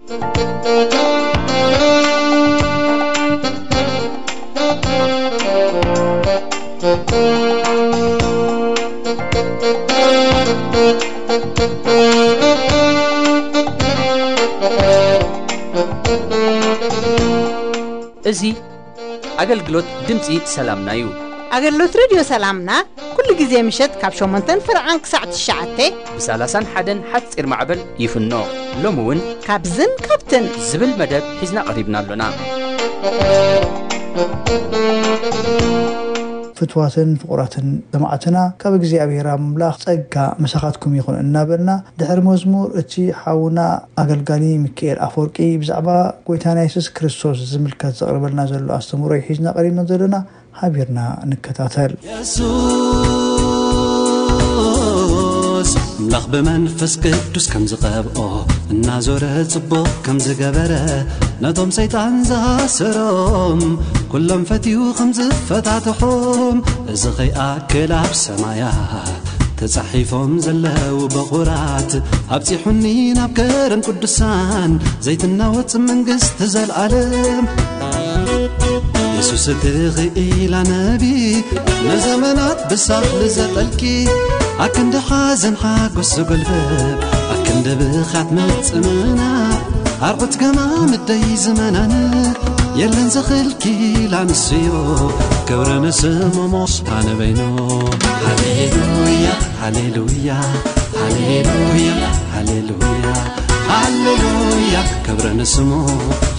እዚ ኣገልግሎት ድምፂ ሰላምና እዩ። ኣገልግሎት ሬድዮ ሰላምና ኩሉ ግዜ ምሸት ካብ ሸሞንተን ፍርዓን ክሳዕ ትሽዓተ ብ30ን ሓደን ሓፂር ማዕበል ይፍኖ። ሎሚ እውን ካብዝን ካብትን ዝብል መደብ ሒዝና ቀሪብና ኣሎና። ፍትዋትን ፍቑራትን ሰማዕትና፣ ካብ እግዚኣብሔር ኣምላኽ ጸጋ ምሳኻትኩም ይኹን እናበልና፣ ድሕሪ መዝሙር እቲ ሓውና ኣገልጋሊ ሚካኤል ኣፈወርቂ ብዛዕባ ጎይታና የሱስ ክርስቶስ ዝምልከት ዘቕርበልና ዘሎ ኣስተምህሮ እዩ ሒዝና ቀሪብና ዘለና። ሓቢርና ንከታተል። የሱስ ኣምላኽ ብመንፈስ ቅዱስ ከም ዝቐብኦ፣ እናዞረ ጽቡቕ ከም ዝገበረ፣ ነቶም ሰይጣን ዝኣሰሮም ኩሎም ፈትዩ ከም ዝፈታትሖም፣ እዚ ኸይኣክል ኣብ ሰማያት ተጻሒፎም ዘለዉ በኹራት፣ ኣብጺሑኒ ናብ ከረን ቅዱሳን ዘይትናወጽ መንግስቲ ዘልኣለም። የሱስ እቲ ኽኢላ ነቢ፣ ንዘመናት ብሳኽሊ ዘጠልቂ፣ ኣክንዲ ሓዘን ሓጎስ ዘጎልብብ፣ ኣክንዲ ብኽያት ምጽምና፣ ኣርዑት ገማም ደይ ዝመናን፣ የለን ዘኽል ኪላ ንስዮ፣ ክብሪ ንስሙ ሞስታ ንበይኑ። ሃሌሉያ፣ ሃሌሉያ፣ ሃሌሉያ፣ ሃሌሉያ፣ ሃሌሉያ፣ ክብሪ ንስሙ።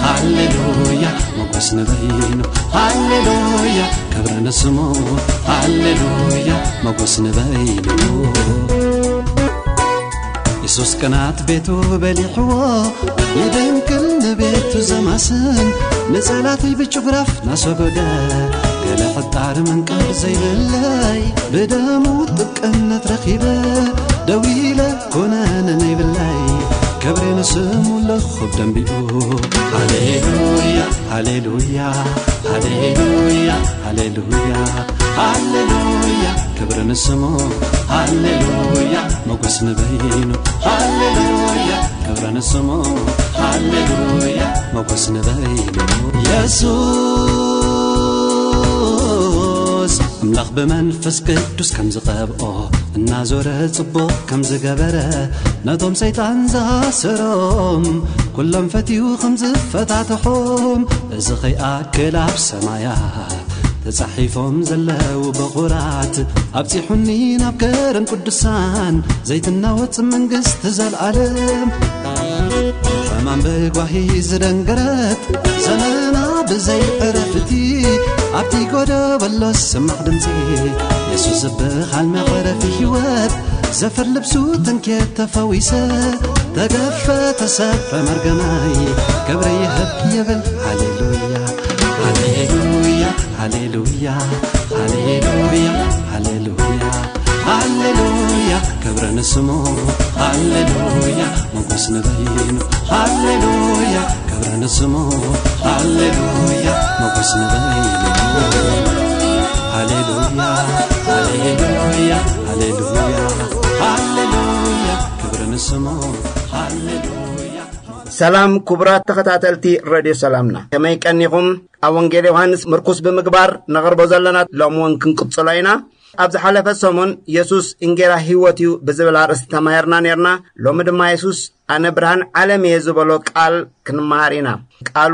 ሃሌሉያ፣ ሞገስ ንበይኑ። ሃሌሉያ፣ ክብሪ ንስሙ። ሃሌሉያ፣ ሞገስ ንበይኑ። የሱስ ቅናት ቤቱ በሊሕዎ፣ ይደንቅል ንቤቱ ዘማስን፣ ንጸላተይ ብጭጉራፍ ናሰጎገ፣ ገለ ሕጣር መንቀብ ዘይብለይ፣ ብደሙ ጥብቅነት ረኺበ፣ ደው ኢለ ኮነነ ነይብለይ፣ ክብሪ ንስሙ ለኹብ ደንቢኡ። ሃሌሉያ፣ ሃሌሉያ፣ ሃሌሉያ፣ ሃሌሉያ፣ ሃሌሉያ፣ ክብሪ ንስሙ። ሃሌሉያ፣ ሞገስ ንበይኑ። ሃሌሉያ፣ ክብሪ ንስሙ። ሃሌሉያ፣ ሞገስ ንበይኑ። የሱስ ኣምላኽ ብመንፈስ ቅዱስ ከም ዝቐብኦ፣ እናዞረ ጽቡቕ ከም ዝገበረ፣ ነቶም ሰይጣን ዝኣሰሮም ኩሎም ፈትዩ ከም ዝፈታተሖም፣ እዚ ኸይኣክል ኣብ ሰማያት ተጻሒፎም ዘለዉ በኹራት፣ ኣብጺሑኒ ናብ ከረን ቅዱሳን ዘይትናወጽ መንግስቲ ዘልኣለም። ሕማም ብጓሂ ዝደንገረት ዘመና ብዘይ ዕረፍቲ፣ ኣብቲ ጎደበሎ ዝስማዕ ድምጺ፣ የሱስ ዝበሃል መዕረፊ ህይወት፣ ዘፈር ልብሱ ተንኬት ተፈዊሰ፣ ተገፈ ተሰብረ መርገማይ፣ ክብሪ ይህብ ይብል። ሃሌሉያ፣ ሃሌሉያ፣ ሃሌሉያ፣ ሃሌሉያ፣ ሃሌሉያ፣ ሃሌሉያ፣ ክብሪ ንስሙ። ሃሌሉያ፣ ሞገስ ንበይኑ። ሃሌሉያ፣ ክብሪ ንስሙ። ሃሌሉያ፣ ሞገስ ንበይኑ። ሃሌሉያ፣ ሃሌሉያ፣ ሃሌሉያ፣ ሃሌሉያ፣ ክብሪ ንስሙ። ሃሌሉያ። ሰላም ክቡራት ተኸታተልቲ ረድዮ ሰላምና፣ ከመይ ቀኒኹም? ኣብ ወንጌል ዮሃንስ ምርኩስ ብምግባር ነቕርቦ ዘለና ሎሚ እውን ክንቅጽሎ ኢና። ኣብ ዝሓለፈ ሰሙን የሱስ እንጌራ ህይወት እዩ ብዝብል ኣርእስቲ ተማሂርና ኔርና። ሎሚ ድማ የሱስ ኣነ ብርሃን ዓለም እየ ዝበሎ ቃል ክንመሃር ኢና። ቃሉ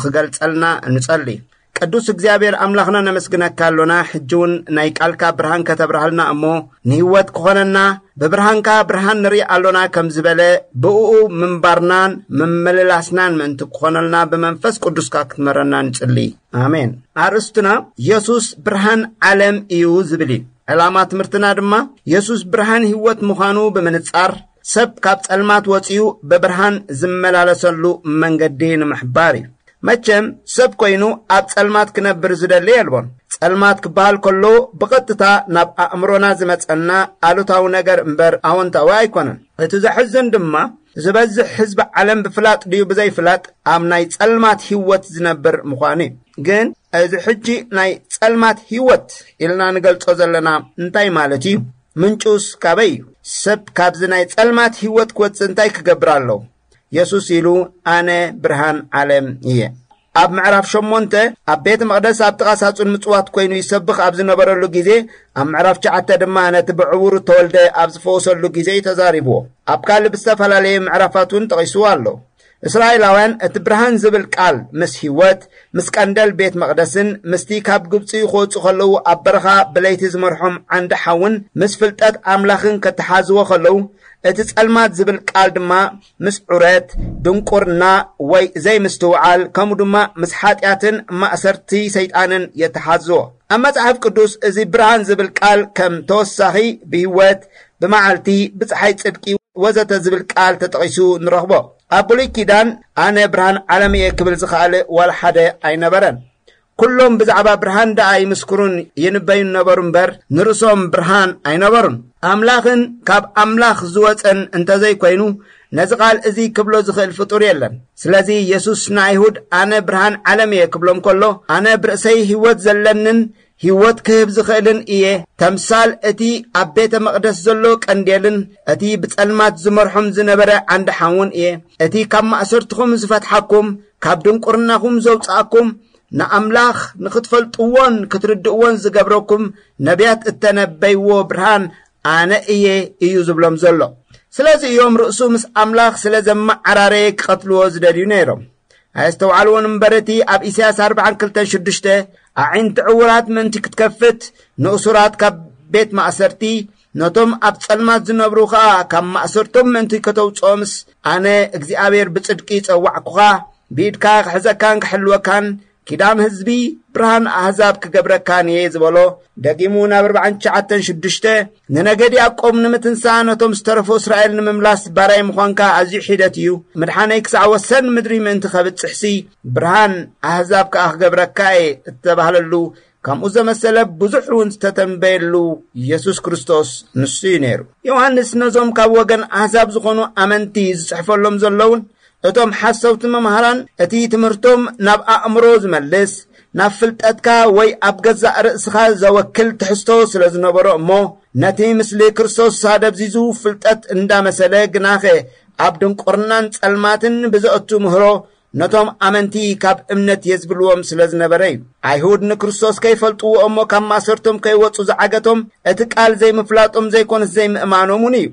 ክገልጸልና ንጸሊ። ቅዱስ እግዚኣብሔር ኣምላኽና ነመስግነካ ኣሎና። ሕጂ እውን ናይ ቃልካ ብርሃን ከተብርሃልና እሞ ንህይወት ክኾነና ብብርሃንካ ብርሃን ንርኢ ኣሎና ከም ዝበለ ብእኡ ምንባርናን ምምልላስናን ምእንቲ ክኾነልና ብመንፈስ ቅዱስካ ክትመረና ንጽሊ። ኣሜን። ኣርእስትና የሱስ ብርሃን ዓለም እዩ ዝብል እዩ። ዕላማ ትምህርትና ድማ የሱስ ብርሃን ህይወት ምዃኑ ብምንጻር ሰብ ካብ ጸልማት ወጺኡ ብብርሃን ዝመላለሰሉ መንገዲ ንምሕባር እዩ። መቸም ሰብ ኮይኑ ኣብ ጸልማት ክነብር ዝደሊ የልቦን። ጸልማት ክበሃል ከሎ ብቐጥታ ናብ ኣእምሮና ዝመጸና ኣሉታዊ ነገር እምበር ኣወንታዊ ኣይኮነን። እቲ ዘሕዝን ድማ ዝበዝሕ ህዝቢ ዓለም ብፍላጥ ድዩ ብዘይፍላጥ ኣብ ናይ ጸልማት ህይወት ዝነብር ምዃኑ እዩ። ግን እዚ ሕጂ ናይ ጸልማት ህይወት ኢልና ንገልጾ ዘለና እንታይ ማለት እዩ? ምንጩስ ካበይ እዩ? ሰብ ካብዚ ናይ ጸልማት ህይወት ክወጽእ እንታይ ክገብር ኣለዎ? የሱስ ኢሉ፣ ኣነ ብርሃን ዓለም እየ። ኣብ ምዕራፍ ሸሞንተ ኣብ ቤተ መቕደስ ኣብ ጥቓ ሳጹን ምጽዋት ኮይኑ ይሰብኽ ኣብ ዝነበረሉ ግዜ፣ ኣብ ምዕራፍ ትሽዓተ ድማ ነቲ ብዕውሩ ተወልደ ኣብ ዝፈወሰሉ ግዜ እዩ ተዛሪብዎ። ኣብ ካልእ ብዝተፈላለየ ምዕራፋት እውን ጠቒስዎ ኣሎ። እስራኤላውያን እቲ ብርሃን ዝብል ቃል ምስ ህይወት፣ ምስ ቀንደል ቤት መቕደስን ምስቲ ካብ ግብጺ ክወጹ ከለዉ ኣብ በረኻ ብለይቲ ዝመርሖም ዓንዲ ሓውን ምስ ፍልጠት ኣምላኽን ከተሓዝዎ ከለዉ፣ እቲ ጸልማት ዝብል ቃል ድማ ምስ ዑረት፣ ድንቁርና ወይ ዘይምስትውዓል፣ ከምኡ ድማ ምስ ሓጢኣትን ማእሰርቲ ሰይጣንን የተሓዝዎ። ኣብ መጽሓፍ ቅዱስ እዚ ብርሃን ዝብል ቃል ከም ተወሳኺ ብህይወት፣ ብመዓልቲ፣ ብጸሓይ ጽድቂ ወዘተ ዝብል ቃል ተጠቒሱ ንረኽቦ። ኣብ ብሉይ ኪዳን ኣነ ብርሃን ዓለም እየ ክብል ዝኸኣለ ዋላ ሓደ ኣይነበረን። ኩሎም ብዛዕባ ብርሃን ደኣ ይምስክሩን ይንበዩን ነበሩ እምበር፣ ንርእሶም ብርሃን ኣይነበሩን። ኣምላኽን ካብ ኣምላኽ ዝወጸን እንተዘይኮይኑ፣ ነዚ ቃል እዚ ክብሎ ዝኽእል ፍጡር የለን። ስለዚ የሱስ ንኣይሁድ ኣነ ብርሃን ዓለም እየ ክብሎም ከሎ፣ ኣነ ብርእሰይ ህይወት ዘለንን ህይወት ክህብ ዝኽእልን እየ። ተምሳል እቲ ኣብ ቤተ መቕደስ ዘሎ ቀንዴልን እቲ ብጸልማት ዝመርሖም ዝነበረ ዓንዲ ሓውን እየ። እቲ ካብ ማእሰርትኹም ዝፈትሓኩም፣ ካብ ድንቁርናኹም ዘውጽኣኩም፣ ንኣምላኽ ንኽትፈልጥዎን ክትርድእዎን ዝገብረኩም ነቢያት እተነበይዎ ብርሃን ኣነ እየ እዩ ዝብሎም ዘሎ። ስለዚ እዮም ርእሱ ምስ ኣምላኽ ስለ ዘመዓራረየ ክቐትልዎ ዝደልዩ ነይሮም። ኣየስተውዓልዎን እምበር፣ እቲ ኣብ ኢሳያስ ኣርባዓን ክልተን ሽዱሽተ ኣዒንቲ ዕዉራት ምእንቲ ክትከፍት፣ ንእሱራት ካብ ቤት ማእሰርቲ፣ ነቶም ኣብ ጸልማት ዝነብሩ ኸኣ ካብ ማእሰርቶም ምእንቲ ከተውጽኦምስ፣ ኣነ እግዚኣብሔር ብጽድቂ ጸዋዕኩኻ፣ ብኢድካ ክሕዘካን ክሕልወካን፣ ኪዳን ህዝቢ፣ ብርሃን ኣህዛብ ክገብረካን እየ ዝበሎ። ደጊሙ ናብ ኣርባዓን ትሽዓተን ሽዱሽተ፣ ንነገድ ያዕቆብ ንምትንሳእ፣ ነቶም ዝተረፉ እስራኤል ንምምላስ ባራይ ምዃንካ ኣዝዩ ሒደት እዩ። ምድሓነይ ክሳዕ ወሰን ምድሪ ምእንቲ ከብጽሕሲ፣ ብርሃን ኣህዛብ ከኣ ክገብረካ እየ እተባህለሉ፣ ከምኡ ዘመሰለ ብዙሕ እውን ዝተተንበየሉ የሱስ ክርስቶስ ንሱ እዩ ነይሩ። ዮሃንስ ነዞም ካብ ወገን ኣህዛብ ዝኾኑ ኣመንቲ ዝጽሕፈሎም ዘለውን፣ እቶም ሓሰውቲ መምሃራን እቲ ትምህርቶም ናብ ኣእምሮ ዝመልስ፣ ናብ ፍልጠትካ ወይ ኣብ ገዛእ ርእስኻ ዘወክል ትሕዝቶ ስለ ዝነበሮ እሞ፣ ነቲ ምስሊ ክርስቶስ ኣደብዚዙ ፍልጠት እንዳመሰለ፣ ግናኸ ኣብ ድንቁርናን ጸልማትን ብዘእቱ ምህሮ ነቶም ኣመንቲ ካብ እምነት የዝብልዎም ስለ ዝነበረ እዩ። ኣይሁድ ንክርስቶስ ከይፈልጥዎ እሞ ካብ ማእሰርቶም ከይወጹ ዝዓገቶም፣ እቲ ቃል ዘይምፍላጦም ዘይኮነስ ዘይምእማኖም እውን እዩ።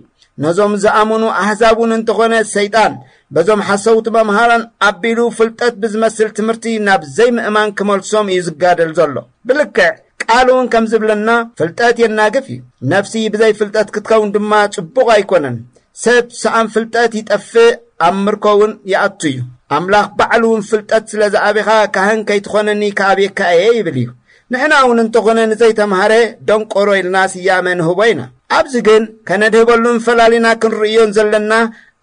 ነዞም ዝኣመኑ ኣህዛብ እውን እንተኾነ፣ ሰይጣን በዞም ሓሰውቲ መምሃራን ኣቢሉ ፍልጠት ብዝመስል ትምህርቲ ናብ ዘይምእማን ክመልሶም እዩ ዝጋደል ዘሎ። ብልክዕ ቃል እውን ከም ዝብለና፣ ፍልጠት የናግፍ እዩ። ነፍሲ ብዘይ ፍልጠት ክትከውን ድማ ጽቡቕ ኣይኮነን። ሰብ ሰኣን ፍልጠት ይጠፍእ፣ ኣብ ምርኮ እውን ይኣቱ እዩ። ኣምላኽ ባዕሉ እውን ፍልጠት ስለ ዝኣቤኻ ካህን ከይትኾነኒ ክኣብየካ እየ ይብል እዩ። ንሕና እውን እንተኾነ ንዘይተምሃረ ደንቆሮ ኢልና ስያመ ንህቦ ኢና። ኣብዚ ግን ከነድህበሉን ፈላሊና ክንርእዮን ዘለና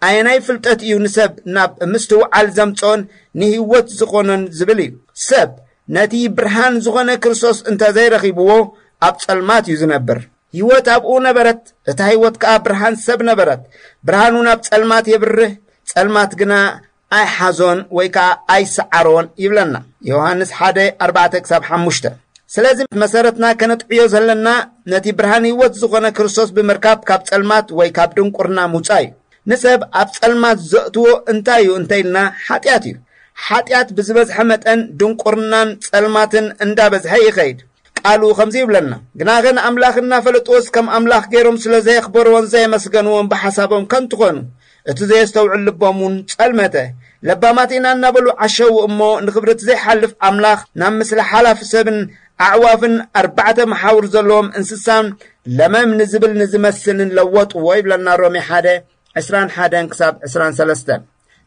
ኣየናይ ፍልጠት እዩ ንሰብ ናብ ምስትውዓል ዘምጽኦን ንህይወት ዝኾኖን ዝብል እዩ። ሰብ ነቲ ብርሃን ዝኾነ ክርስቶስ እንተ ዘይረኺብዎ ኣብ ጸልማት እዩ ዝነብር። ህይወት ኣብኡ ነበረት፣ እታ ህይወት ከኣ ብርሃን ሰብ ነበረት። ብርሃን እውን ኣብ ጸልማት የብርህ፣ ጸልማት ግና ኣይሓዞን ወይ ከኣ ኣይሰዓሮን ይብለና ዮሃንስ ሓደ ኣርባዕተ ክሳብ ሓሙሽተ። ስለዚ መሰረትና ከነጥዕዮ ዘለና ነቲ ብርሃን ህይወት ዝኾነ ክርስቶስ ብምርካብ ካብ ጸልማት ወይ ካብ ድንቁርና ምውጻእ እዩ። ንሰብ ኣብ ጸልማት ዘእትዎ እንታይ እዩ እንተ ኢልና፣ ሓጢኣት እዩ። ሓጢኣት ብዝበዝሐ መጠን ድንቁርናን ጸልማትን እንዳበዝሐ ይኸይድ። ቃሉ ከምዚ ይብለና፣ ግናኸ ንኣምላኽ እናፈለጥዎስ ከም ኣምላኽ ገይሮም ስለ ዘየኽበርዎን ዘየመስገንዎን ብሓሳቦም ከንቱ ኾኑ፣ እቲ ዘየስተውዕል ልቦም እውን ጸልመተ። ለባማት ኢና እናበሉ ዓሸዉ እሞ፣ ንኽብሪ እቲ ዘይሓልፍ ኣምላኽ ናብ ምስሊ ሓላፊ ሰብን ኣዕዋፍን ኣርባዕተ መሓውር ዘለዎም እንስሳን ለመም ንዝብል ንዝመስልን ለወጥዎ ይብለና ሮሜ ሓደ ዕስራን ሓደን ክሳብ ዕስራን ሰለስተን።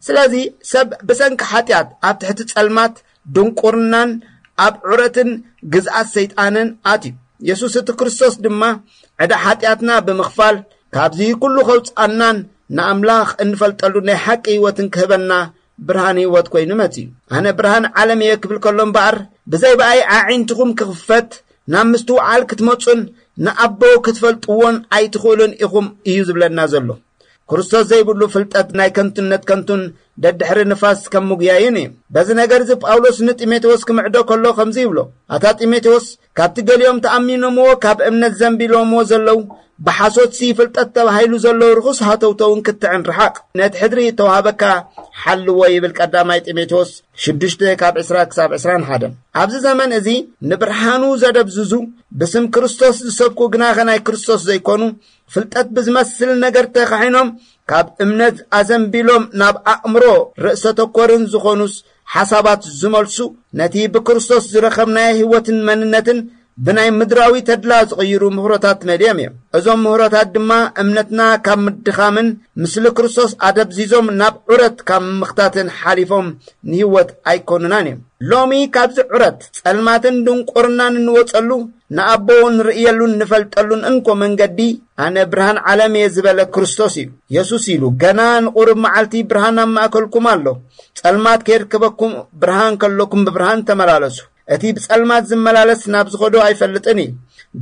ስለዚ ሰብ ብሰንኪ ሓጢኣት ኣብ ትሕቲ ጸልማት ድንቁርናን ኣብ ዑረትን ግዝኣት ሰይጣንን ኣትዩ። የሱስ እቲ ክርስቶስ ድማ ዕዳ ሓጢኣትና ብምኽፋል ካብዚ ኩሉ ከውጽኣናን ንኣምላኽ እንፈልጠሉ ናይ ሓቂ ህይወትን ክህበና ብርሃን ህይወት ኮይኑ መጺኡ። ኣነ ብርሃን ዓለም እየ ክብል ከሎ እምበኣር፣ ብዘይ ብኣይ ኣዒንትኹም ክኽፈት ናብ ምስትውዓል ክትመጹን ንኣቦ ክትፈልጥዎን ኣይትኽእሉን ኢኹም እዩ ዝብለና ዘሎ። ክርስቶስ ዘይብሉ ፍልጠት ናይ ከንቱነት ከንቱን ደድሕሪ ንፋስ ከም ምጉያይን እዩ። በዚ ነገር እዚ ጳውሎስ ንጢሞቴዎስ ክምዕዶ ከሎ ከምዚ ይብሎ፣ ኣታ ጢሞቴዎስ፣ ካብቲ ገሊኦም ተኣሚኖምዎ ካብ እምነት ዘንቢሎምዎ ዘለዉ ብሓሶትሲ ፍልጠት ተባሂሉ ዘሎ ርኹስ ሃተውተውን ክትዕን ርሓቕ፣ ነቲ ሕድሪ እተዋህበካ ሓልዎ ይብል ቀዳማይ ጢሞቴዎስ ሽዱሽተ ካብ ዕስራ ክሳብ ዕስራን ሓደን። ኣብዚ ዘመን እዚ ንብርሃኑ ዘደብዝዙ፣ ብስም ክርስቶስ ዝሰብኩ ግናኸ ናይ ክርስቶስ ዘይኮኑ፣ ፍልጠት ብዝመስል ነገር ተኻሒኖም ካብ እምነት ኣዘንቢሎም ናብ ኣእምሮ ርእሰ ተኮርን ዝኾኑስ ሓሳባት ዝመልሱ፣ ነቲ ብክርስቶስ ዝረኸብናዮ ህይወትን መንነትን ብናይ ምድራዊ ተድላ ዝቕይሩ ምህሮታት መሊኦም እዮም። እዞም ምህሮታት ድማ እምነትና ካብ ምድኻምን ምስሊ ክርስቶስ ኣደብዚዞም ናብ ዑረት ካብ ምምኽታትን ሓሊፎም ንህይወት ኣይኮኑናን እዮም። ሎሚ ካብዚ ዑረት ጸልማትን ድንቁርናን እንወጸሉ፣ ንኣቦ ንርእየሉን ንፈልጠሉን እንኮ መንገዲ፣ ኣነ ብርሃን ዓለም እየ ዝበለ ክርስቶስ እዩ። የሱስ ኢሉ፣ ገና ንቑሩብ መዓልቲ ብርሃን ኣብ ማእከልኩም ኣሎ። ጸልማት ከየርክበኩም፣ ብርሃን ከለኩም ብብርሃን ተመላለሱ። እቲ ብጸልማት ዝመላለስ ናብ ዝኸዶ ኣይፈልጥን እዩ።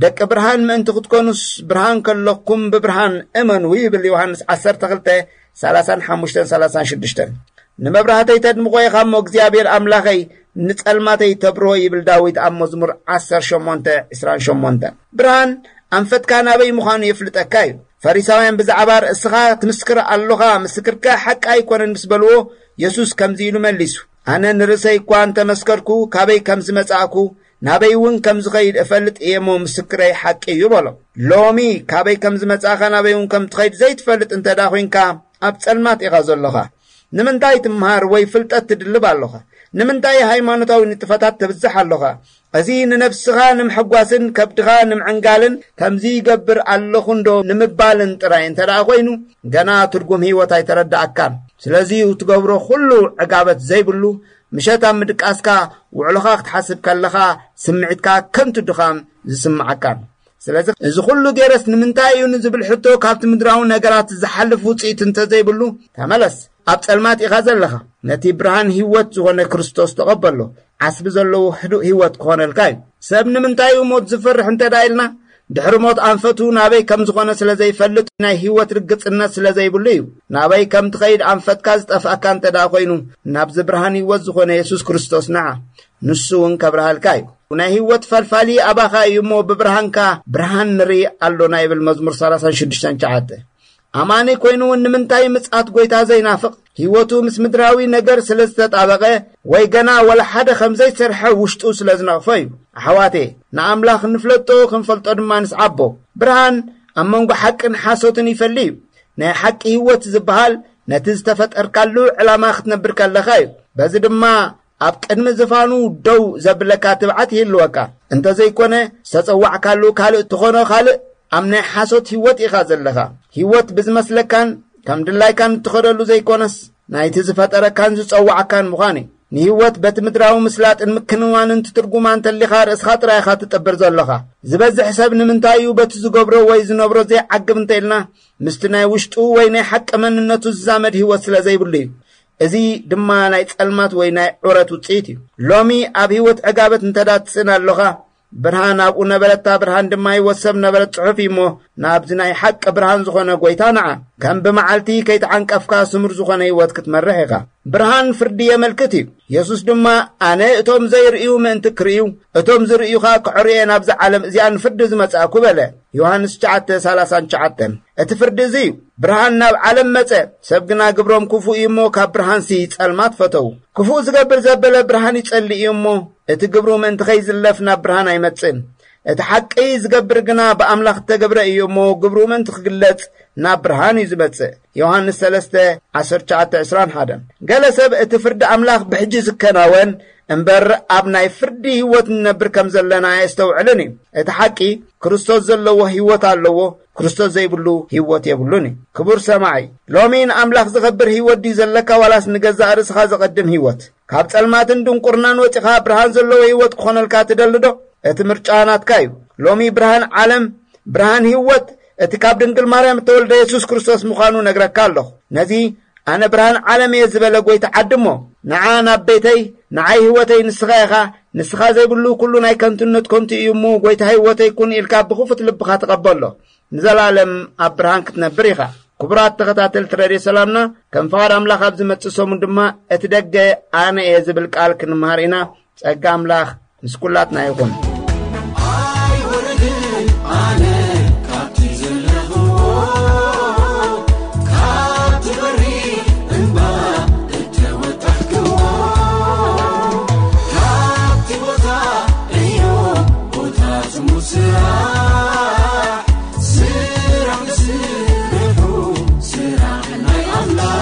ደቂ ብርሃን ምእንቲ ክትኮኑስ፣ ብርሃን ከለኩም ብብርሃን እመኑ ይብል ዮሃንስ ዓሰርተ ክልተ፣ ሰላሳን ሓሙሽተን ሰላሳን ሽዱሽተን። ንመብራህተይ ተድምቖ ኢኻ እሞ፣ እግዚኣብሔር ኣምላኸይ፣ ንጸልማተይ ተብርሆ ይብል ዳዊት ኣብ መዝሙር ዓሰርተ ሸሞንተ ዕስራን ሸሞንተን። ብርሃን ኣንፈትካ ናበይ ምዃኑ የፍልጠካ እዩ። ፈሪሳውያን ብዛዕባ ርእስኻ ትምስክር ኣሎኻ፣ ምስክርካ ሓቂ ኣይኮነን ምስ በልዎ፣ የሱስ ከምዚ ኢሉ መሊሱ፣ ኣነ ንርእሰይ እኳ እንተመስከርኩ፣ ካበይ ከም ዝመጻእኩ፣ ናበይ እውን ከም ዝኸይድ እፈልጥ እየ እሞ፣ ምስክረይ ሓቂ እዩ በሎ። ሎሚ ካበይ ከም ዝመጻእካ፣ ናበይ እውን ከም ትኸይድ ዘይትፈልጥ እንተ ደኣ ኮይንካ፣ ኣብ ጸልማት ኢኻ ዘሎኻ። ንምንታይ ትምሃር ወይ ፍልጠት ትድልብ ኣሎኻ? ንምንታይ ሃይማኖታዊ ንጥፈታት ተብዝሕ ኣሎኻ? እዚ ንነብስኻ ንምሕጓስን ከብድኻ ንምዕንጋልን ከምዚ ይገብር ኣለኹ እንዶ ንምባልን ጥራይ እንተ ደኣ ኮይኑ፣ ገና ትርጉም ህይወት ኣይተረዳኣካን። ስለዚ እዩ ትገብሮ ኩሉ ዕጋበት ዘይብሉ፣ ምሸት ኣብ ምድቃስካ፣ ውዕሎኻ ክትሓስብ ከለኻ፣ ስምዒትካ ከንቱ ድኻም ዝስምዓካን። ስለዚ እዚ ኩሉ ገይረስ ንምንታይ እዩ ንዝብል ሕቶ ካብቲ ምድራዊ ነገራት ዝሓልፍ ውጽኢት እንተ ዘይብሉ፣ ተመለስ። ኣብ ጸልማት ኢኻ ዘለኻ። ነቲ ብርሃን ህይወት ዝኾነ ክርስቶስ ተቐበሎ። ዓስቢ ዘለዎ ህዱእ ህይወት ክኾነልካ እዩ። ሰብ ንምንታይ እዩ ሞት ዝፈርሕ እንተ ደኣ ኢልና፣ ድሕሪ ሞት ኣንፈቱ ናበይ ከም ዝኾነ ስለ ዘይፈልጥ፣ ናይ ህይወት ርግጽነት ስለ ዘይብሉ እዩ። ናበይ ከም ትኸይድ ኣንፈትካ ዝጠፍኣካ እንተ ደኣ ኮይኑ፣ ናብዚ ብርሃን ህይወት ዝኾነ የሱስ ክርስቶስ ንዓ። ንሱ እውን ከብርሃልካ እዩ። ናይ ህይወት ፈልፋሊ ኣባኻ እዩ እሞ፣ ብብርሃንካ ብርሃን ንርኢ ኣሎና ይብል መዝሙር ሰላሳን ሽዱሽተን ትሽዓተ። ኣማኒ ኮይኑ እውን ንምንታይ ምጽኣት ጐይታ ዘይናፍቕ? ህይወቱ ምስ ምድራዊ ነገር ስለ ዝተጣበቐ፣ ወይ ገና ወላ ሓደ ከም ዘይሰርሐ ውሽጡ ስለ ዝነቕፎ እዩ። ኣሕዋቴ፣ ንኣምላኽ ንፍለጦ፣ ክንፈልጦ ድማ ንስዓቦ። ብርሃን ኣብ መንጎ ሓቅን ሓሶትን ይፈሊ እዩ። ናይ ሓቂ ህይወት ዝበሃል ነቲ ዝተፈጠርካሉ ዕላማ ክትነብር ከለኻ እዩ። በዚ ድማ ኣብ ቅድሚ ዝፋኑ ደው ዘብለካ ትብዓት ይህልወካ። እንተዘይኮነ፣ ዝተጸዋዕካሉ ካልእ እትኾኖ ካልእ፣ ኣብ ናይ ሓሶት ህይወት ኢኻ ዘለኻ። ህይወት ብዝመስለካን ከም ድላይካን እትኸደሉ ዘይኮነስ፣ ናይቲ ዝፈጠረካን ዝጸዋዕካን ምዃን እዩ። ንህይወት በቲ ምድራዊ ምስላጥን ምክንዋንን ትትርጉማ እንተሊኻ፣ ርእስኻ ጥራይ ኢኻ ትጥብር ዘለኻ። ዝበዝሕ ሰብ ንምንታይ እዩ በቲ ዝገብሮ ወይ ዝነብሮ ዘይዓግብ እንተ ኢልና፣ ምስቲ ናይ ውሽጡ ወይ ናይ ሓቂ መንነቱ ዝዛመድ ህይወት ስለ ዘይብሉ እዩ። እዚ ድማ ናይ ጸልማት ወይ ናይ ዑረት ውጽኢት እዩ። ሎሚ ኣብ ህይወት ዕጋበት እንተ ደኣ ትስእን ኣሎኻ፣ ብርሃን ኣብኡ ነበረታ፣ ብርሃን ድማ ህይወት ሰብ ነበረት ጽሑፍ እዩ እሞ፣ ናብዚ ናይ ሓቂ ብርሃን ዝኾነ ጐይታ ንዓ። ከም ብመዓልቲ ከይተዓንቀፍካ ስሙር ዝኾነ ህይወት ክትመርሕ ኢኻ። ብርሃን ፍርዲ የመልክት እዩ። የሱስ ድማ፣ ኣነ እቶም ዘይርእዩ ምእንቲ ክርእዩ፣ እቶም ዝርእዩ ኸኣ ክዕርዩ እየ ናብዛ ዓለም እዚኣ ንፍርዲ ዝመጻእኩ በለ። ዮሃንስ ትሽዓተ ሰላሳን ትሽዓተን። እቲ ፍርዲ እዚ እዩ። ብርሃን ናብ ዓለም መጸ፣ ሰብ ግና ግብሮም ክፉእ እዩ እሞ፣ ካብ ብርሃንሲ ጸልማት ፈተዉ። ክፉእ ዝገብር ዘበለ ብርሃን ይጸልእ እዩ እሞ፣ እቲ ግብሩ ምእንቲ ኸይዝለፍ ናብ ብርሃን ኣይመጽእን። እቲ ሓቂ ዝገብር ግና ብኣምላኽ እተገብረ እዩ እሞ፣ ግብሩ ምእንቲ ክግለጽ ናብ ብርሃን እዩ ዝመጽእ። ዮሃንስ ሰለስተ ዓሰርተ ትሽዓተ ዕስራን ሓደን። ገለ ሰብ፣ እቲ ፍርዲ ኣምላኽ ብሕጂ ዝከናወን እምበር፣ ኣብ ናይ ፍርዲ ህይወት ንነብር ከም ዘለና ኣየስተውዕልን እዩ። እቲ ሓቂ፣ ክርስቶስ ዘለዎ ህይወት ኣለዎ፣ ክርስቶስ ዘይብሉ ህይወት የብሉን እዩ። ክቡር ሰማዒ፣ ሎሚ ንኣምላኽ ዘኸብር ህይወት ድዩ ዘለካ፣ ዋላስ ንገዛእ ርእስኻ ዘቐድም ህይወት? ካብ ጸልማትን ድንቁርናን ወጺኻ ብርሃን ዘለዎ ህይወት ክኾነልካ ትደሊ ዶ? እቲ ምርጫ ናትካ እዩ። ሎሚ ብርሃን ዓለም፣ ብርሃን ህይወት፣ እቲ ካብ ድንግል ማርያም እተወልደ የሱስ ክርስቶስ ምዃኑ ነግረካ ኣለኹ። ነዚ ኣነ ብርሃን ዓለም እየ ዝበለ ጐይታ ዓድሞ። ንዓ ናብ ቤተይ፣ ንዓይ ህይወተይ ንስኻ ኢኻ፣ ንስኻ ዘይብሉ ኩሉ ናይ ከንቱነት ከንቱ እዩ እሞ፣ ጐይታ ህይወተይ ኩን ኢልካ ብኽፉት ልብኻ ተቐበሎ። ንዘለኣለም ኣብ ብርሃን ክትነብር ኢኻ። ክቡራት ተኸታተልቲ ሬድዮ ሰላምና፣ ከም ፍቓድ ኣምላኽ ኣብ ዝመጽእ ሰሙን ድማ እቲ ደገ ኣነ እየ ዝብል ቃል ክንመሃር ኢና። ጸጋ ኣምላኽ ምስ ኩላትና ይኹን። ኣይወርድን ኣነ ካብቲ ዘለኹዎ፣ ካብቲ በሪ እምባ እተወጣሕክዎ፣ ካብቲ ቦታ እዩ ቦታ ጽሙድ ስራሕ፣ ስራሕ ንስርሑ፣ ስራሕ ናይ ኣምላኽ።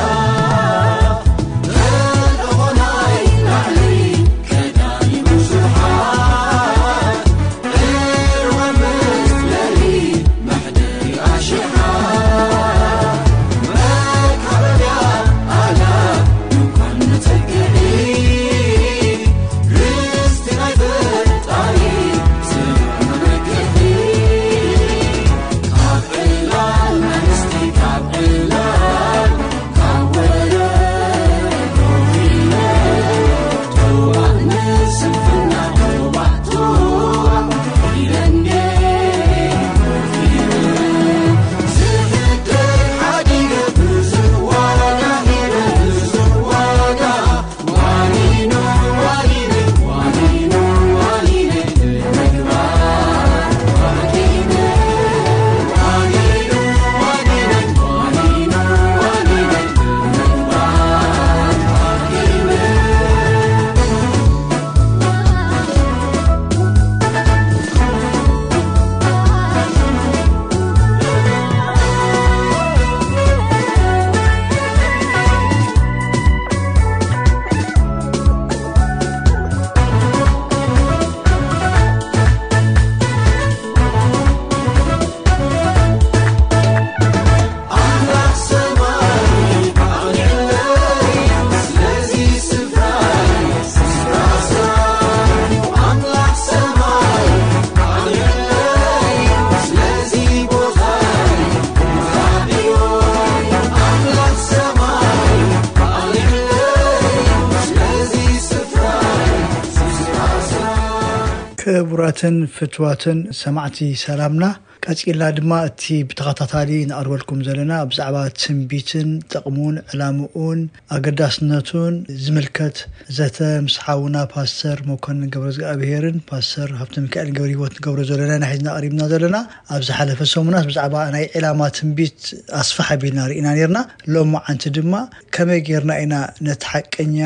ክቡራትን ፍትዋትን ሰማዕቲ ሰላምና፣ ቀጺልና ድማ እቲ ብተኸታታሊ ንቐርበልኩም ዘለና ብዛዕባ ትንቢትን ጥቕሙን ዕላምኡን ኣገዳስነቱን ዝምልከት ዘተ ምስ ሓውና ፓስተር መኮንን ገብረ እግዚኣብሄርን ፓስተር ሃብተ ሚካኤል ገብረ ህይወት ንገብሮ ዘለና ኢና ሒዝና ቀሪብና ዘለና። ኣብ ዝሓለፈ ሰሙናት ብዛዕባ ናይ ዕላማ ትንቢት ኣስፍሕ ኣቢልና ርኢና ነርና። ሎሚ ዓንቲ ድማ ከመይ ጌርና ኢና ነቲ ሓቀኛ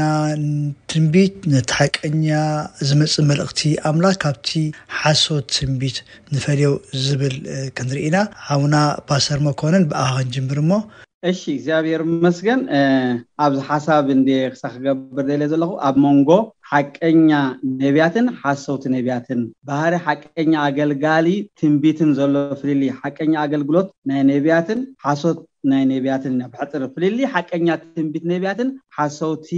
ትንቢት፣ ነቲ ሓቀኛ ዝመጽእ መልእኽቲ ኣምላኽ ካብቲ ሓሶት ትንቢት ንፈልዮ ዝብል ክንርኢ ኢና። ሓውና ፓስተር መኮንን ብኣኻ ክንጅምር እሞ። እሺ እግዚኣብሔር ይመስገን። ኣብዚ ሓሳብ እንደ ክሳ ክገብር ደለ ዘለኹ ኣብ መንጎ ሓቀኛ ነቢያትን ሓሰውቲ ነቢያትን ባህሪ ሓቀኛ ኣገልጋሊ ትንቢትን ዘሎ ፍልልይ ሓቀኛ ኣገልግሎት ናይ ነቢያትን ሓሶት ናይ ነቢያትን ኢና ብሕፅር ፍልልይ ሓቀኛ ትንቢት ነቢያትን ሓሰውቲ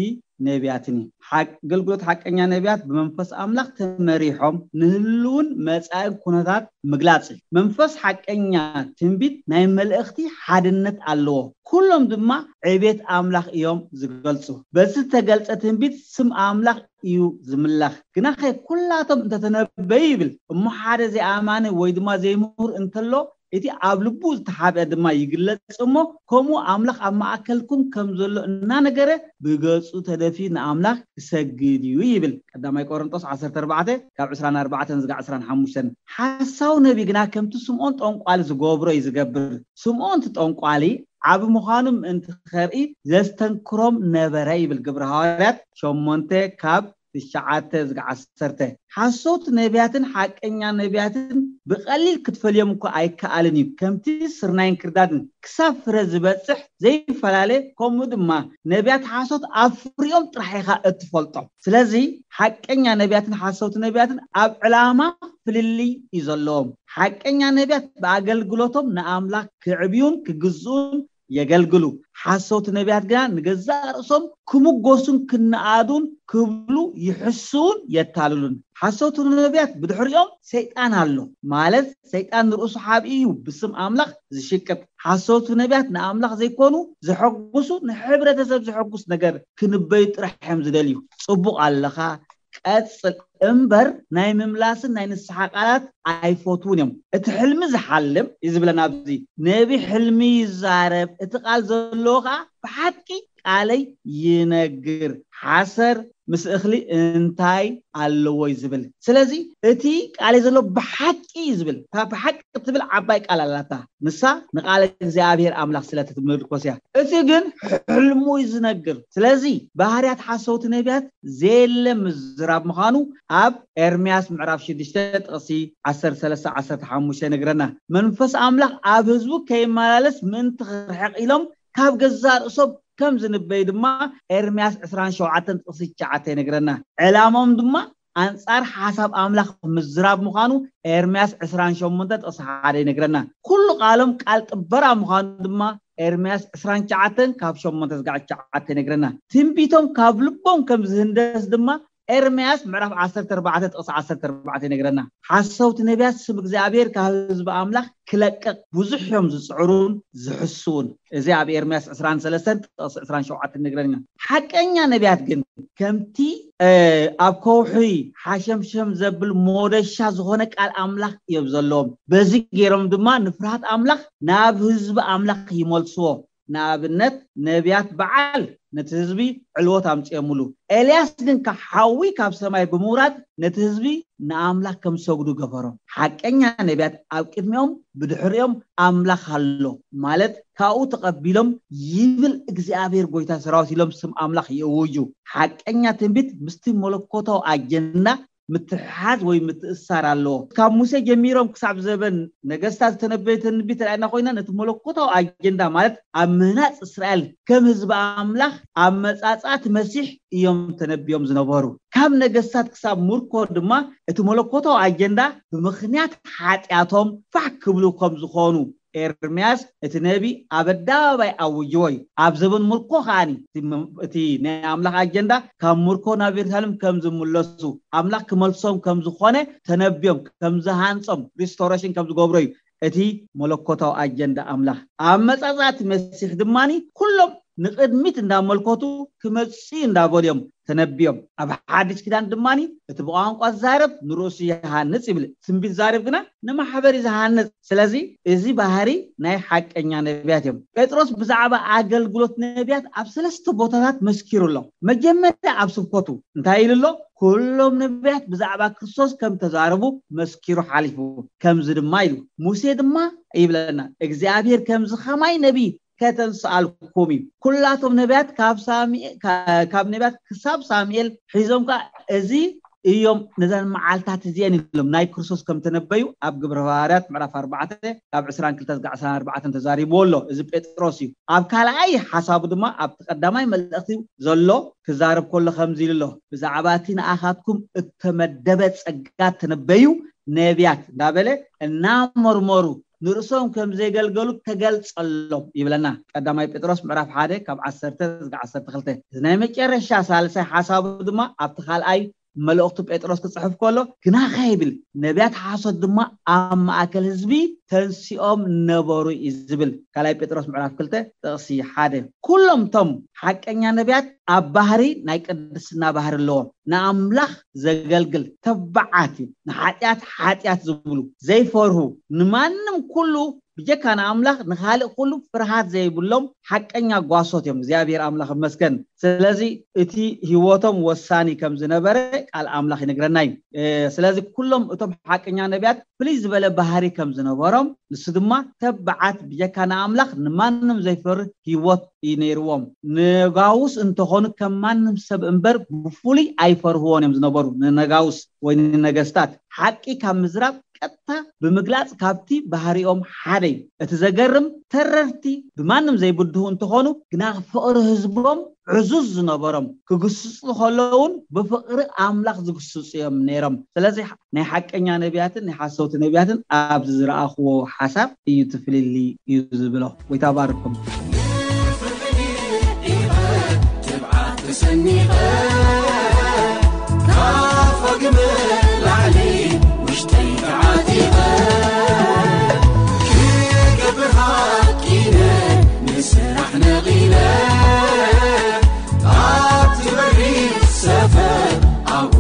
ነቢያትን እዩ። ኣገልግሎት ሓቀኛ ነቢያት ብመንፈስ ኣምላኽ ተመሪሖም ንህልውን መጻእን ኩነታት ምግላጽ እዩ። መንፈስ ሓቀኛ ትንቢት ናይ መልእኽቲ ሓድነት ኣለዎ። ኩሎም ድማ ዕቤት ኣምላኽ እዮም ዝገልጹ። በዚ ዝተገልጸ ትንቢት ስም ኣምላኽ እዩ ዝምለኽ። ግናኸ ኩላቶም እንተተነበዩ ይብል እሞ ሓደ ዘይኣማኒ ወይ ድማ ዘይምሁር እንተሎ እቲ ኣብ ልቡ ዝተሓብአ ድማ ይግለጽ እሞ ከምኡ ኣምላኽ ኣብ ማእከልኩም ከም ዘሎ እናነገረ ብገጹ ተደፊኡ ንኣምላኽ ክሰግድ እዩ ይብል ቀዳማይ ቆሮንጦስ ዓሰርተ ኣርባዕተ ካብ ዕስራን ኣርባዕተን ዝጋ ዕስራን ሓሙሽተን። ሓሳዊ ነቢ ግና ከምቲ ስምዖን ጠንቋሊ ዝገብሮ እዩ ዝገብር። ስምዖን እቲ ጠንቋሊ ዓቢ ምዃኑ ምእንቲ ኸርኢ ዘስተንክሮም ነበረ ይብል ግብሪ ሃዋርያት ሸሞንተ ካብ ትሽዓተ ዝጋ ዓሰርተ። ሓሰውቲ ነቢያትን ሓቀኛ ነቢያትን ብቐሊል ክትፈልዮም እኳ ኣይከኣልን እዩ። ከምቲ ስርናይን ክርዳድን ክሳብ ፍረ ዝበጽሕ ዘይፈላለ ከምኡ ድማ ነቢያት ሓሶት ኣብ ፍሪኦም ጥራሕ ኢኻ እትፈልጦም። ስለዚ ሓቀኛ ነቢያትን ሓሰውቲ ነቢያትን ኣብ ዕላማ ፍልልይ እዩ ዘለዎም። ሓቀኛ ነቢያት ብኣገልግሎቶም ንኣምላኽ ክዕብዩን ክግዝኡን የገልግሉ። ሓሰውቲ ነቢያት ግና ንገዛእ ርእሶም ክምጎሱን ክነኣዱን ክብሉ ይሕስውን የታልሉን። ሓሰውቲ ነቢያት ብድሕሪኦም ሰይጣን ኣሎ ማለት ሰይጣን ንርእሱ ሓብኢ እዩ ብስም ኣምላኽ ዝሽቅጥ። ሓሰውቲ ነቢያት ንኣምላኽ ዘይኮኑ ዘሐጉሱ ንሕብረተሰብ ዘሐጉስ ነገር ክንበዩ ጥራሕ እዮም ዝደልዩ። ጽቡቕ ኣለኻ ቀጽል እምበር ናይ ምምላስን ናይ ንስሓ ቃላት ኣይፈትዉን እዮም። እቲ ሕልሚ ዝሓልም እዩ ዝብለና ኣብዚ። ነቢ ሕልሚ ይዛረብ፣ እቲ ቃል ዘለዎ ከዓ ብሓቂ ቃለይ ይነግር። ሓሰር ምስ እኽሊ እንታይ ኣለዎ እዩ ዝብል። ስለዚ እቲ ቃለይ ዘሎ ብሓቂ እዩ ዝብል። እታ ብሓቂ እትብል ዓባይ ቃል ኣላታ። ንሳ ንቃለ እግዚኣብሔር ኣምላኽ ስለ ትምርኮስ እያ። እቲ ግን ሕልሙ እዩ ዝነግር። ስለዚ ባህርያት ሓሰውቲ ነቢያት ዘየለ ምዝራብ ምዃኑ ኣብ ኤርምያስ ምዕራፍ ሽዱሽተ ጥቕሲ ዓሰርተ ሰለስተ ዓሰርተ ሓሙሽተ ይነግረና። መንፈስ ኣምላኽ ኣብ ህዝቡ ከይመላለስ ምእንቲ ክርሕቕ ኢሎም ካብ ገዛእ ርእሶም ከም ዝንበዩ ድማ ኤርምያስ ዕስራን ሸውዓተን ጥቕሲ ትሽዓተ ይነግረና። ዕላሞም ድማ ኣንጻር ሓሳብ ኣምላኽ ምዝራብ ምዃኑ ኤርምያስ ዕስራን ሸሞንተ ጥቕሲ ሓደ ይነግረና። ኩሉ ቃሎም ቃል ጥበራ ምዃኑ ድማ ኤርምያስ ዕስራን ትሽዓተን ካብ ሸሞንተ ዝጋዕ ትሽዓተ ይነግረና። ትንቢቶም ካብ ልቦም ከም ዝህንደስ ድማ ኤርምያስ ምዕራፍ ዓሰርተ ኣርባዕተ ጥቕሲ ዓሰርተ ኣርባዕተ ይነግረና። ሓሰውቲ ነቢያት ስም እግዚኣብሔር ካብ ህዝቢ ኣምላኽ ክለቅቕ ብዙሕ እዮም ዝጽዕሩን ዝሕስውን። እዚ ኣብ ኤርምያስ ዕስራን ሰለስተን ጥቕሲ ዕስራን ሸውዓተን ይነግረና። ሓቀኛ ነቢያት ግን ከምቲ ኣብ ከውሒ ሓሸምሸም ዘብል ሞደሻ ዝኾነ ቃል ኣምላኽ እዮም ዘለዎም። በዚ ገይሮም ድማ ንፍርሃት ኣምላኽ ናብ ህዝቢ ኣምላኽ ይመልስዎ። ንኣብነት ነቢያት በዓል ነቲ ህዝቢ ዕልወት ኣምፅኦምሉ። ኤልያስ ግን ካብ ሓዊ ካብ ሰማይ ብምውራድ ነቲ ህዝቢ ንኣምላኽ ከም ዝሰግዱ ገበሮም። ሓቀኛ ነቢያት ኣብ ቅድሚኦም ብድሕሪኦም ኣምላኽ ኣሎ ማለት ካብኡ ተቐቢሎም ይብል እግዚኣብሔር ጎይታ ሰራዊት ኢሎም ስም ኣምላኽ ይእውጁ። ሓቀኛ ትንቢት ምስቲ መለኮታዊ ኣጀንዳ ምትሕሓዝ ወይ ምትእሳር ኣለዎ። ካብ ሙሴ ጀሚሮም ክሳብ ዘበን ነገስታት ዝተነበየ ትንቢት ርኣና ኮይና ነቲ መለኮታዊ ኣጀንዳ ማለት ኣብ ምህናፅ እስራኤል ከም ህዝቢ ኣምላኽ ኣብ መጻጻት መሲሕ እዮም ተነቢዮም ዝነበሩ። ካብ ነገስታት ክሳብ ሙርኮ ድማ እቲ መለኮታዊ ኣጀንዳ ብምኽንያት ሓጢኣቶም ፋሕ ክብሉ ከም ዝኾኑ ኤርምያስ እቲ ነቢ ኣብ ኣደባባይ ኣውጅዎ እዩ። ኣብ ዘበን ሙርኮ ከዓኒ እቲ ናይ ኣምላኽ ኣጀንዳ ካብ ሙርኮ ናብ የሩሳሌም ከም ዝምለሱ ኣምላኽ ክመልሶም ከም ዝኾነ ተነቢዮም ከም ዝሃንጾም ሪስቶሬሽን ከም ዝገብሮ እዩ እቲ መለኮታዊ ኣጀንዳ ኣምላኽ። ኣብ መጻጻእቲ መሲሕ ድማኒ ኩሎም ንቕድሚት እንዳመልከቱ ክመጽኡ እንዳበሉ እዮም ተነቢዮም። ኣብ ሓድሽ ኪዳን ድማኒ እቲ ብቋንቋ ዝዛረብ ንርእሱ ይሃንጽ ይብል። ትንቢት ዛረብ ግና ንማሕበር እዩ ዝሃንጽ። ስለዚ እዚ ባህሪ ናይ ሓቀኛ ነቢያት እዮም። ጴጥሮስ ብዛዕባ ኣገልግሎት ነቢያት ኣብ ሰለስተ ቦታታት መስኪሩ ኣሎ። መጀመርያ ኣብ ስብከቱ እንታይ ኢሉ ኣሎ? ኩሎም ነቢያት ብዛዕባ ክርስቶስ ከም ተዛረቡ መስኪሩ ሓሊፉ። ከምዚ ድማ ኢሉ፣ ሙሴ ድማ ይብለና እግዚኣብሔር ከምዚ ከማይ ነቢ ከተንስኣልኩም እዩ። ኩላቶም ነቢያት ካብ ሳሙኤል ካብ ነቢያት ክሳብ ሳሙኤል ሒዞም ከኣ እዚ እዮም ነዘን መዓልታት እዚአን ኢሎም ናይ ክርስቶስ ከም ተነበዩ ኣብ ግብረ ሃዋርያት ምዕራፍ ኣርባዕተ ካብ ዕስራን ክልተ ዝጋዕ ዕስራን ኣርባዕተን ተዛሪብዎ ኣሎ። እዚ ጴጥሮስ እዩ። ኣብ ካልኣይ ሓሳቡ ድማ ኣብቲ ቀዳማይ መልእኽቲ ዘሎ ክዛረብ ከሎ ከምዚ ኢሉ ኣሎ፣ ብዛዕባ እቲ ንኣኻትኩም እተመደበ ጸጋ ተነበዩ ነቢያት እንዳበለ እናመርመሩ ንርእሶም ከም ዘገልገሉ ተገልጸሎም ይብለና። ቀዳማይ ጴጥሮስ ምዕራፍ ሓደ ካብ ዓሰርተ ዝጋ ዓሰርተ ክልተ። እዚ ናይ መጨረሻ ሳልሳይ ሓሳቡ ድማ ኣብቲ ካልኣይ መልእኽቱ ጴጥሮስ ክጽሕፍ ከሎ ግናኸ ይብል ነቢያት ሓሶት ድማ ኣብ ማእከል ህዝቢ ተንሲኦም ነበሩ እዩ ዝብል። ካልኣይ ጴጥሮስ ምዕራፍ ክልተ ጥቕሲ ሓደ። ኩሎም እቶም ሓቀኛ ነቢያት ኣብ ባህሪ ናይ ቅድስና ባህሪ ኣለዎም። ንኣምላኽ ዘገልግል ተባዓት እዩ። ንሓጢኣት ሓጢኣት ዝብሉ ዘይፈርሁ ንማንም ኩሉ ብጀካ ንኣምላኽ ንኻልእ ኩሉ ፍርሃት ዘይብሎም ሓቀኛ ጓሶት እዮም። እግዚኣብሔር ኣምላኽ ይመስገን። ስለዚ እቲ ህይወቶም ወሳኒ ከም ዝነበረ ቃል ኣምላኽ ይነግረና እዩ። ስለዚ ኩሎም እቶም ሓቀኛ ነቢያት ፍልይ ዝበለ ባህሪ ከም ዝነበሮም ንሱ ድማ ተባዓት ብጀካ ንኣምላኽ ንማንም ዘይፈርህ ህይወት እዩ ነይርዎም። ነጋውስ እንተኾኑ ከም ማንም ሰብ እምበር ብፍሉይ ኣይፈርህዎን እዮም ዝነበሩ። ንነጋውስ ወይ ንነገስታት ሓቂ ካብ ምዝራብ ቀጥታ ብምግላጽ ካብቲ ባህሪኦም ሓደ እዩ። እቲ ዘገርም ተረርቲ ብማንም ዘይብድሁ እንተኾኑ ግና ፍቕሪ ህዝቦም ዕዙዝ ዝነበሮም ክግስጹ ከለውን ብፍቕሪ ኣምላኽ ዝግስጹ እዮም ነይሮም። ስለዚ ናይ ሓቀኛ ነቢያትን ናይ ሓሰውቲ ነቢያትን ኣብዚ ዝረኣኽዎ ሓሳብ እዩ ትፍልሊ እዩ ዝብሎ። ወይ ታባርኩም። ተሰኒቐ ካብ ፋግመ ላዕሊ ውሽጠይ ተዓጢቐ ክገብር ሃቂነ ንስራሕ ነቒለ ኣብቲ በሪኽ ሰፈር ኣብኡ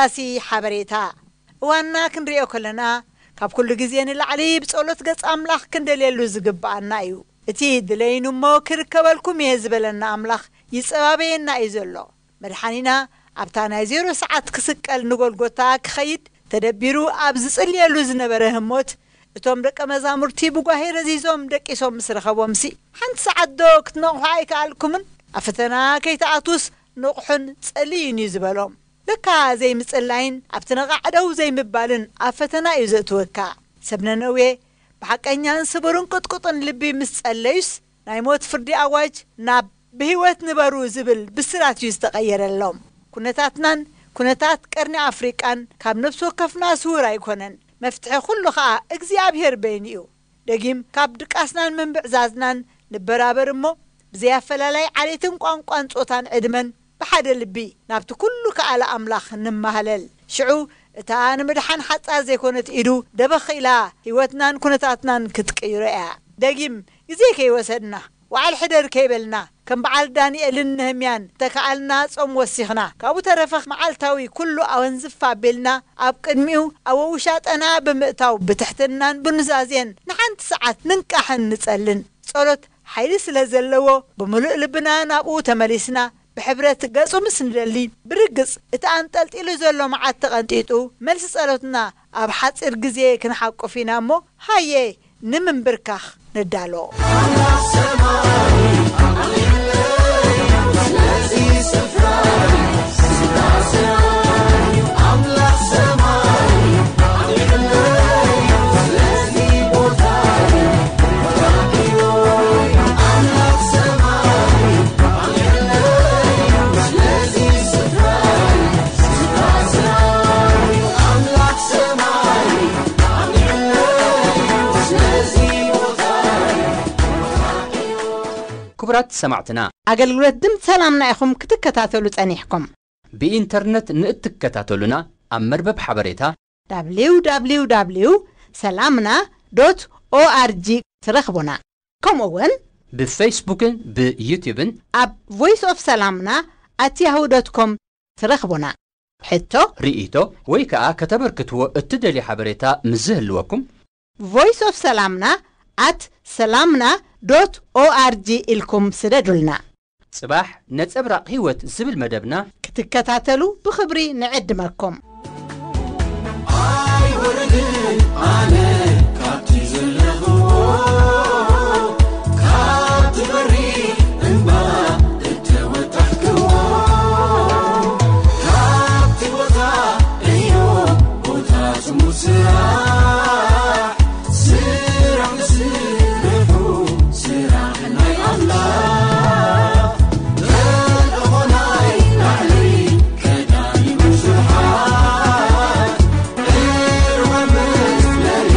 ኣገዳሲ ሓበሬታ። እዋንና ክንሪኦ ከለና፣ ካብ ኩሉ ግዜ ንላዕሊ ብጸሎት ገጽ ኣምላኽ ክንደልየሉ ዝግብኣና እዩ። እቲ ድለይኑ እሞ ክርከበልኩም እየ ዝበለና ኣምላኽ ይጸባበየና እዩ ዘሎ። መድሓኒና ኣብታ ናይ ዜሮ ሰዓት ክስቀል ንጎልጎታ ክኸይድ ተደቢሩ ኣብ ዝጽልየሉ ዝነበረ ህሞት፣ እቶም ደቀ መዛሙርቲ ብጓሄ ረዚዞም ደቂሶም ምስ ረኸቦምሲ፣ ሓንቲ ሰዓት ዶ ክትነቕሑ ኣይከኣልኩምን? ኣብ ፈተና ከይትኣትዉስ ንቕሑን ጸልዩን እዩ ዝበሎም። ለካ ዘይምጽላይን ኣብቲ ነቓዕ ደው ዘይምባልን ኣብ ፈተና እዩ ዘእትወካ። ሰብ ነነዌ ብሓቀኛን ስቡርን ቅጥቁጥን ልቢ ምስ ጸለዩስ፣ ናይ ሞት ፍርዲ ኣዋጅ ናብ ብህይወት ንበሩ ዝብል ብስራት እዩ ዝተቐየረሎም። ኩነታትናን ኩነታት ቀርኒ ኣፍሪቃን ካብ ነፍሲ ወከፍና ስውር ኣይኮነን። መፍትሒ ኩሉ ኸኣ እግዚኣብሔር በይኑ እዩ። ደጊም ካብ ድቃስናን ምንብዕዛዝናን ንበራበር እሞ፣ ብዘይ ኣፈላላይ ዓሌትን ቋንቋን ጾታን ዕድመን ብሓደ ልቢ ናብቲ ኩሉ ከኣለ ኣምላኽ ንማህለል። ሽዑ እታ ንምድሓን ሓጻር ዘይኮነት ኢዱ ደበኽ ኢላ ህይወትናን ኩነታትናን ክትቅይሮ እያ። ደጊም ግዜ ከይወሰድና፣ ዋዕል ሕደር ከይበልና፣ ከም በዓል ዳንኤልን ነህምያን ተከኣልና ጾም ወሲኽና፣ ካብኡ ተረፈ መዓልታዊ ኩሉ ኣወንዝፍ ኣቢልና ኣብ ቅድሚኡ ኣብ ውሻጠና ብምእታው ብትሕትናን ብኑዛዜን ንሓንቲ ሰዓት ንንቃሕን ንጸልን። ጸሎት ሓይሊ ስለ ዘለዎ፣ ብምሉእ ልብና ናብኡ ተመሊስና፣ ብሕብረት ገጹ ምስ ንደሊ፣ ብርግጽ እቲ ኣንጠልጢሉ ዘሎ መዓት ተቐንጢጡ፣ መልሲ ጸሎትና ኣብ ሓጺር ግዜ ክንሓቁፍ ኢና እሞ፣ ሃየ ንምንብርካኽ ንዳሎ። ክቡራት ሰማዕትና፣ ኣገልግሎት ድምፂ ሰላምና ኢኹም ክትከታተሉ ጸኒሕኩም። ብኢንተርነት ንእትከታተሉና፣ ኣብ መርበብ ሓበሬታ www ሰላምና ዶት ኦኣርጂ ትረኽቡና። ከምኡ እውን ብፌስቡክን ብዩቲዩብን ኣብ ቮይስ ኦፍ ሰላምና ኣት ያሁ ዶት ኮም ትረኽቡና። ሕቶ፣ ርኢቶ ወይ ከኣ ከተበርክትዎ እትደልዩ ሓበሬታ ምስ ዝህልወኩም፣ ቮይስ ኦፍ ሰላምና ኣት ሰላምና ዶት ኦኣርጂ ኢልኩም ስደዱልና። ጽባሕ ነጸብራቕ ህይወት ዝብል መደብና ክትከታተሉ ብኽብሪ ንዕድመኩም። ኣይወርድን ኣነ ካብቲ ዘለኽዎ፣ ካብቲ በሪ እምባ እተወጣሕክዎ፣ ካብቲ ቦታ እዩ ቦታ ጽሙር ስራሕ፣ ስራሕ ንስርሑ፣ ስራሕ ናይ ኣምላኽ። ተልእኾ ናይ ላዕሊ ቀዳሚ ብዙሓት፣ ዕርወ መፍለሊ